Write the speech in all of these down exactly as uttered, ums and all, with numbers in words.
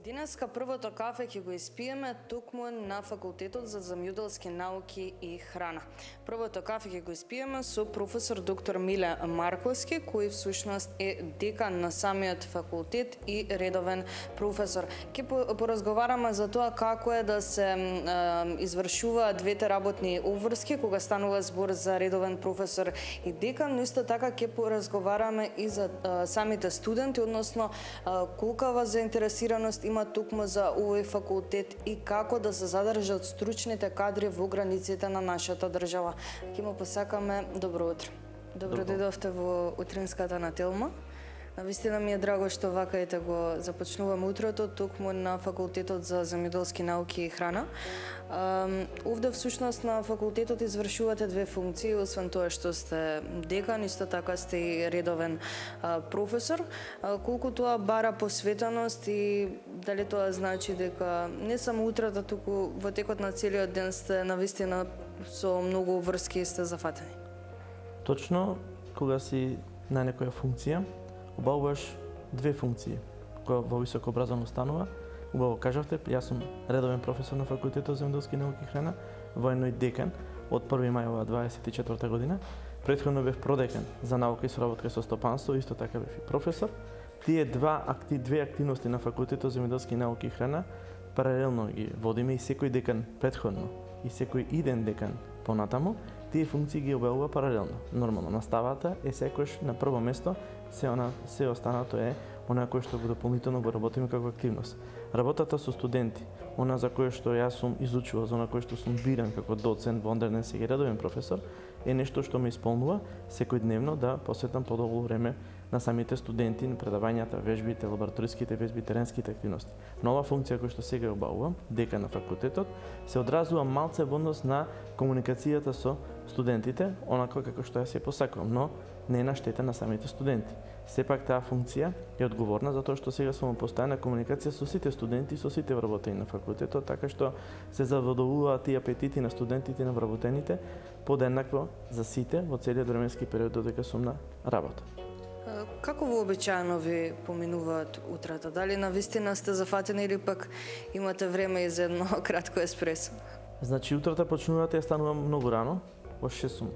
Денеска првото кафе ќе го испиеме токму на Факултетот за земјоделски науки и храна. Првото кафе ќе го испиеме со професор доктор Миле Марковски, кој всушност е декан на самиот факултет и редовен професор. Ќе поразговараме за тоа како е да се е, извршуваат двете работни обврски кога станува збор за редовен професор и декан, но исто така ќе поразговараме и за е, самите студенти, односно е, колкава заинтересираност има токму за овој факултет и како да се задржат стручните кадри во границите на нашата држава. Ќе му посакаме добро утро. Добро дојдовте во утринската на Телма. Навистина ми е драго што вака ете го започнуваме утрото токму на Факултетот за земјоделски науки и храна. Овде всушност на факултетот извршувате две функции, освен тоа што сте декан, исто така сте и редовен професор. Колку тоа бара посветеност и дали тоа значи дека не само утрата, туку во текот на целиот ден сте навистина со многу врски и сте зафатени? Точно, кога си на некоја функција, обавуваш две функции која во високо образовано станува. Убаво кажавте, јас сум редовен професор на Факултетот за земјоделски науки и храна, воено и декан од први мај ова дваесет и четврта година. Претходно бев продекан за наука и соработка со стопанство, исто така бев и професор. Тие два акти, две активности на Факултетот за земјоделски науки и храна паралелно ги водиме и секој декан претходно и секој иден декан понатаму, тие функции ги обавува паралелно. Нормално, наставата е секојаш на прво место, се она се останато е она кое што го дополнително го работиме како активност. Работата со студенти, она за кое што јас сум изучувал, за она кое што сум биран како доцент, вондерен сега редовен професор, е нешто што ме исполнува секојдневно да посветам подолго време на самите студенти, на предавањата, вежбите, лабораториските вежби, теренските активности. Нова функција која што сега обавувам, декан на факултетот, се одразува малце во однос на комуникацијата со студентите, онако како што јас ја посакувам, но не е на штета на самите студенти. Сепак таа функција е одговорна затоа што сега сум во постојана комуникација со сите студенти и со сите вработени на факултетот, така што се задоволуваат и апетити на студентите и на вработените подеднакво за сите во целиот временски период додека сум на работа. Како вообичаено ви поминуваат утрата? Дали навистина сте зафатени или пак имате време и за едно кратко еспресо? Значи, утрата почнуваат, ја станувам многу рано, во шест сум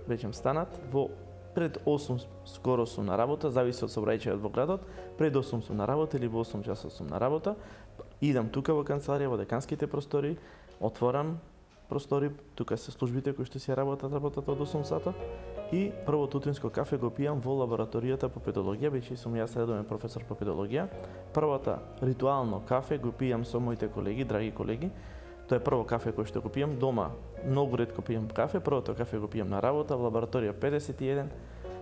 веќе станат, во пред осум скоро сум на работа, зависи од сообраќајот во градот, пред осум сум на работа или во осум часот сум на работа, идам тука во канцеларија, во деканските простори, отворам простори, тука се службите кои што си работат, работат од осум сата, и првото утринско кафе го пијам во лабораторијата по педологија, бидејќи сум јас редовен професор по педологија. Првата ритуално кафе го пијам со моите колеги, драги колеги. Тоа е прво кафе кој што го пијам дома. Многу ретко пијам кафе, првото кафе го пијам на работа во лабораторија педесет и еден.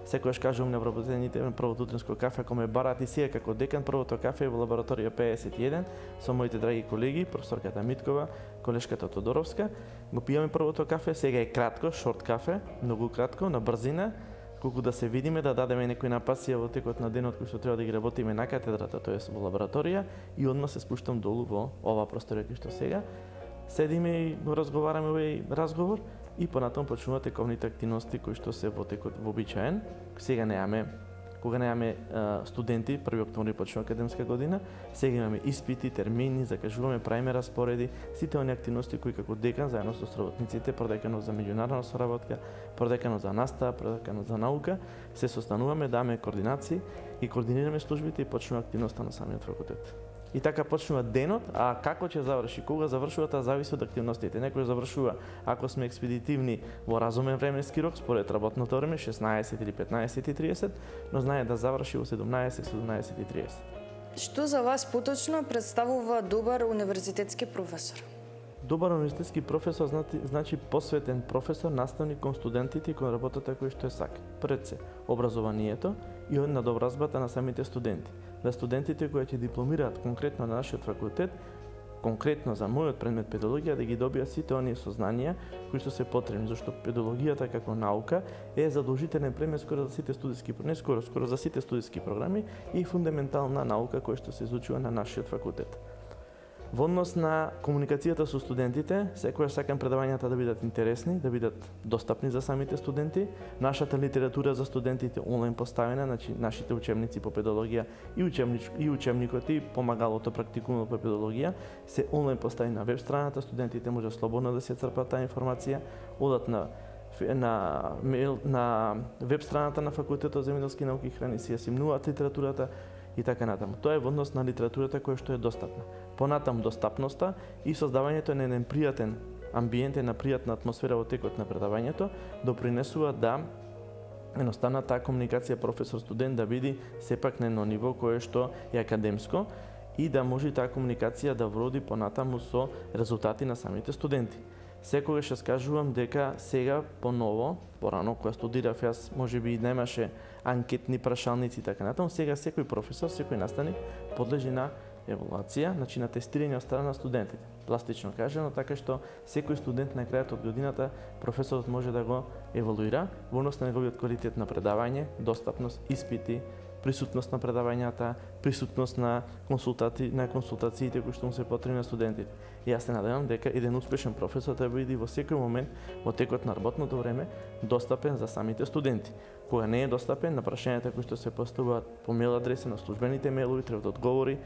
Секогаш кажувам на вработените, првото утринско кафе ако ме бараат и сега како декан, првото кафе е во лабораторија педесет и еден со моите драги колеги, професорката Миткова, колешката Тодоровска. Го пијаме првото кафе, сега е кратко, шорт кафе, многу кратко, на брзина, колку да се видиме, да дадеме некој напасија во текот на денот кој што треба да ги работиме на катедрата, тоест во лабораторија, и одма се спуштам долу во оваа просторија кој што сега. Седиме и разговараме овој разговор и понатаму почнуваат тековните активности кои што се во текот вообичаен. Сега немаме, кога немаме студенти, први октомври почнува академска година, сега имаме испити, термини, закажуваме, правиме распореди, сите оние активности кои како декан заедно со соработниците, продеканот за меѓународна соработка, продеканот за настава, продеканот за наука, се состануваме, даваме координации и координираме службите и почнува активноста на самиот факултет. И така почнува денот, а како ќе заврши, кога завршува, таа зависи од активностите. Некој завршува, ако сме експедитивни во разумен временски рок, според работното време, шеснаесет или петнаесет и триесет, но знае да заврши во седумнаесет, седумнаесет и триесет. Што за вас поточно представува добар универзитетски професор? Добар универзитетски професор значи, значи посветен професор, наставник кон студентите и кон работата која што е сака. Пред се, образованието и надобразбата на самите студенти. Да студентите кои ќе дипломираат конкретно на нашиот факултет, конкретно за мојот предмет педологија, да ги добијат сите оние сознанија кои што се потребни, зашто педологијата како наука е задолжителен предмет скоро за сите студиски, не скоро, скоро за сите студиски програми и фундаментална наука која што се изучува на нашиот факултет. Во однос на комуникацијата со студентите, секогаш сакам предавањата да бидат интересни, да бидат достапни за самите студенти. Нашата литература за студентите онлайн поставена, значи нашите учебници по педагогија и учебнич и учебникот и помагалото практикумот по педагогија се онлайн поставени на веб страната, студентите може слободно да се црпат таа информација, одат на на мејл на веб страната на факултетот за земјоделски науки и храна, си ја симнуваат литературата и така натаму. Тоа е во однос на литературата која што е достапна. Понатаму достапноста и создавањето на еден пријатен амбиент, една пријатна атмосфера во текот на предавањето допринесува да едноставно таа комуникација професор-студент да биде сепак на едно ниво кое што е академско и да може таа комуникација да вроди понатаму со резултати на самите студенти. Секогаш ја скажувам дека сега поново, порано кога студирав јас, можеби немаше анкетни прашалници и така натаму, сега секој професор, секој наставник подлежи на евалуација, значи на тестирање од страна на студентите. Пластично кажано, така што секој студент на крајот од годината професорот може да го евалуира во однос на неговиот квалитет на предавање, достапност, испити, присутност на предавањата, присутност на консултати, на консултациите кои што му се потребни на студентите. И јас се надевам дека еден успешен професор треба да биде во секој момент во текот на работното време достапен за самите студенти. Кога не е достапен на прашањата кои што се поставуваат по мејл адреса на службените мејлови, треба да одговори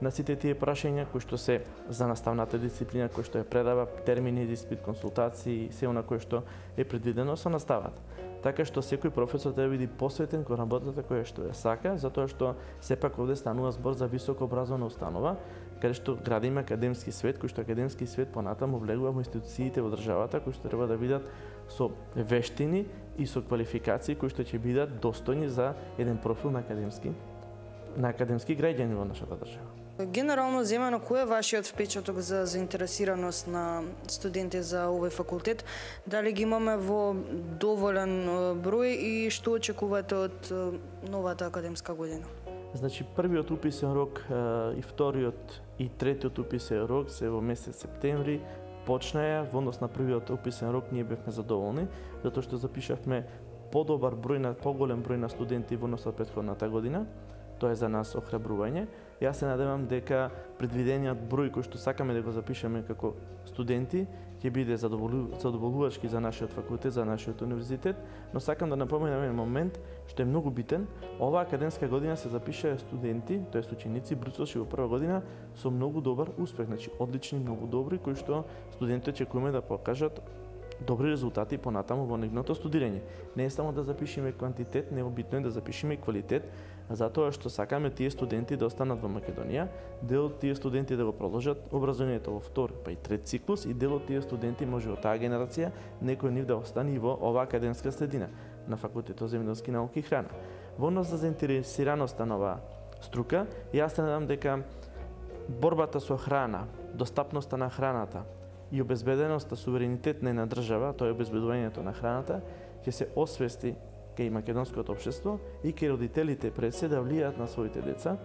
на сите тие прашања кои што се за наставната дисциплина, кои што е предава, термини за испит, консултации, се она кое што е предвидено со наставата. Така што секој професор треба да биде посветен кон работата која што ја сака, затоа што сепак овде станува збор за високо образовна установа, каде што градиме академски свет, кој што академски свет понатаму влегува во институциите во државата, кои што треба да бидат со вештини и со квалификации кои што ќе бидат достојни за еден профил на академски на академски граѓани во нашата држава. Генерално земено, кој е вашиот впечаток за заинтересираност на студенти за овој факултет? Дали ги имаме во доволен број и што очекувате од новата академска година? Значи, првиот уписен рок и вториот и третиот уписен рок се во месец септември почнаја. Во однос на првиот уписен рок ние бевме задоволни, затоа што запишавме подобар број на поголем број на студенти во однос на претходната година. Тоа е за нас охрабрување. Јас се надевам дека предвидениот број кој што сакаме да го запишеме како студенти ќе биде задоволувачки за нашиот факултет, за нашиот универзитет, но сакам да напоменам еден момент што е многу битен. Оваа академска година се запишаа студенти, тоест ученици, брусовши во прва година со многу добар успех, значи одлични, многу добри, кои што студентите очекуваме да покажат добри резултати понатаму во нивното студирање. Не е само да запишеме квантитет, не е битно е да запишеме и квалитет, затоа што сакаме тие студенти да останат во Македонија, дел од тие студенти да го продолжат образованието во втор, па и трет циклус, и дел од тие студенти може од таа генерација некој нив да остане и во оваа академска средина на факултетот за земјоделски науки и храна. Во однос за заинтересираноста на оваа струка, јас се надам дека борбата со храна, достапноста на храната и обезбеденоста, суверенитет на една држава, тоа е обезбедувањето на храната, ќе се освести кај македонското општество и кај родителите пред се да влијаат на своите деца,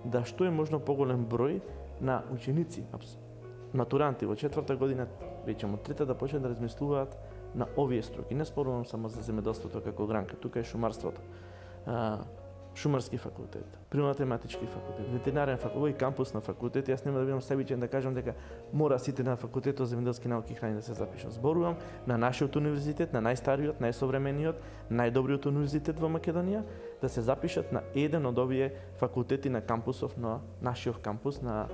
да што е можно поголем број на ученици, матуранти во четврта година, веќе од трета да почнат да размислуваат на овие струки. Не спорувам само за земјоделството како гранка, тука е шумарството, шумарски факултет, природно-математички факултет, ветеринарен факултет и кампус на факултет. Јас нема да бидам себичен да кажам дека мора сите на факултетот за земјоделски науки и храна да се запишат. Зборувам на нашиот универзитет, на најстариот, најсовремениот, најдобриот универзитет во Македонија, да се запишат на еден од овие факултети на кампусов, на нашиот кампус, на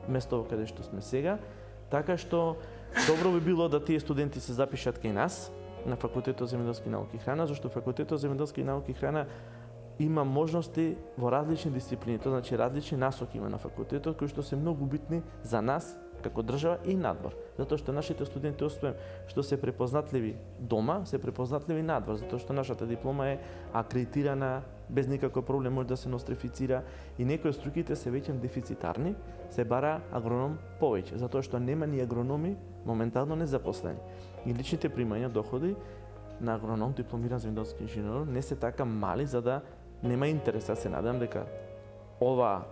место каде што сме сега, така што добро би било да тие студенти се запишат кај нас на факултетот за земјоделски науки и храна, зашто факултетот за земјоделски науки и храна има можности во различни дисциплини, тоа значи различни насоки има на факултетот кои што се многу битни за нас како држава и надвор. Затоа што нашите студенти освен што се препознатливи дома, се препознатливи надвор, затоа што нашата диплома е акредитирана, без никаков проблем може да се нострифицира и некои од струките се веќе дефицитарни, се бара агроном повеќе, затоа што нема ни агрономи моментално незапослени. И личните примања, доходи на агроном, дипломиран земјоделски инженер, не се така мали за да нема интерес. Јас се надам дека ова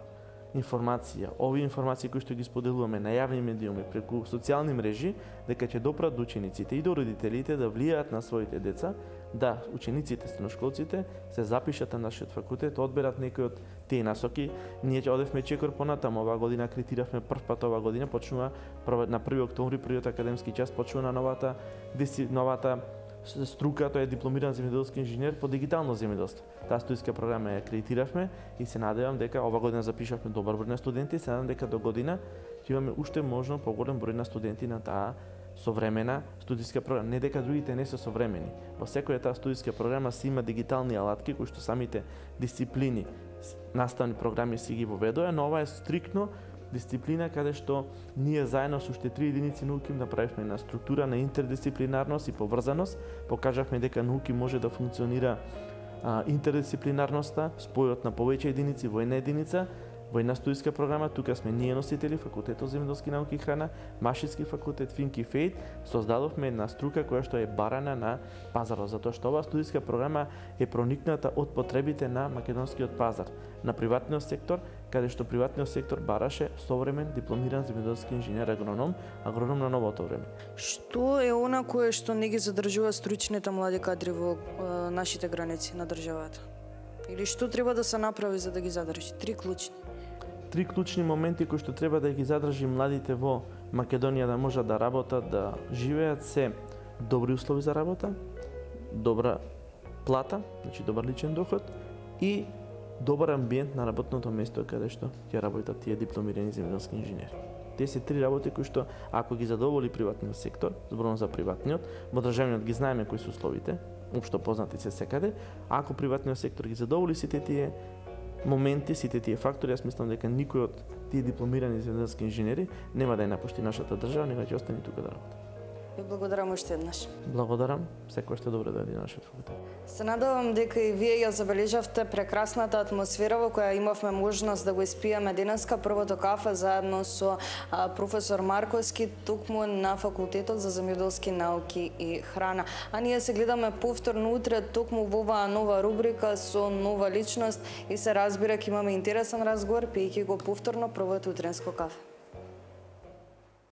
информација, овие информации кои што ги споделуваме на јавни медиуми преку социјални мрежи, дека ќе допрат до учениците и до родителите да влијаат на своите деца да учениците, средношколците се запишат на нашиот факултет, одберат некои од тие насоки. Ние ќе одевме чекор понатаму, оваа година акредитиравме прв пат оваа година, почнува на први октомври, првиот академски час, почнува на новата новата струка, тој е дипломиран земјоделски инженер по дигитално земјоделство. Таа студиска програма ја акредитиравме и се надевам дека ова година запишавме добар број на студенти, се надевам дека до година ќе имаме уште можно поголем број на студенти на таа современа студиска програма. Не дека другите не се современи. Во секоја таа студиска програма си има дигитални алатки кои што самите дисциплини, наставни програми си ги воведоа, но ова е стриктно дисциплина каде што ние заедно со уште три единици науки направивме на структура на интердисциплинарност и поврзаност, покажавме дека науки може да функционира а, интердисциплинарноста, спојот на повеќе единици во една единица, во една студиска програма. Тука сме ние носители, Факултетот за земјоделски науки и храна, Машински факултет, Финки Фейт, создадовме една струка која што е барана на пазарот, затоа што оваа студиска програма е проникната од потребите на македонскиот пазар, на приватниот сектор, каде што приватниот сектор бараше современ дипломиран земјоделски инженер агроном, агроном на новото време. Што е она кое што не ги задржува стручните млади кадри во е, нашите граници на државата? Или што треба да се направи за да ги задржи? Три клучни. Три клучни моменти кои што треба да ги задржи младите во Македонија да можат да работат, да живеат, се добри услови за работа, добра плата, значи добар личен доход и добар амбиент на работното место каде што ќе работат тие дипломирани земјоделски инженери. Тие се три работи кои што ако ги задоволи приватниот сектор, зборувам за приватниот, во државниот ги знаеме кои се условите, општо познати се секаде, ако приватниот сектор ги задоволи сите тие моменти, сите тие фактори, јас мислам дека никој од тие дипломирани земјоделски инженери нема да ја напушти нашата држава, него ќе остане тука да работи. Ви благодарам уште еднаш. Благодарам, секој што добро да дојде на нашиот факултет. Се надевам дека и вие ја забележавте прекрасната атмосфера во која имавме можност да го испиеме денеска првото кафе заедно со а, професор Марковски, токму на Факултетот за земјоделски науки и храна. А ние се гледаме повторно утре токму во оваа нова рубрика со нова личност и се разбира ќе имаме интересен разговор пиејќи го повторно првото утренско кафе.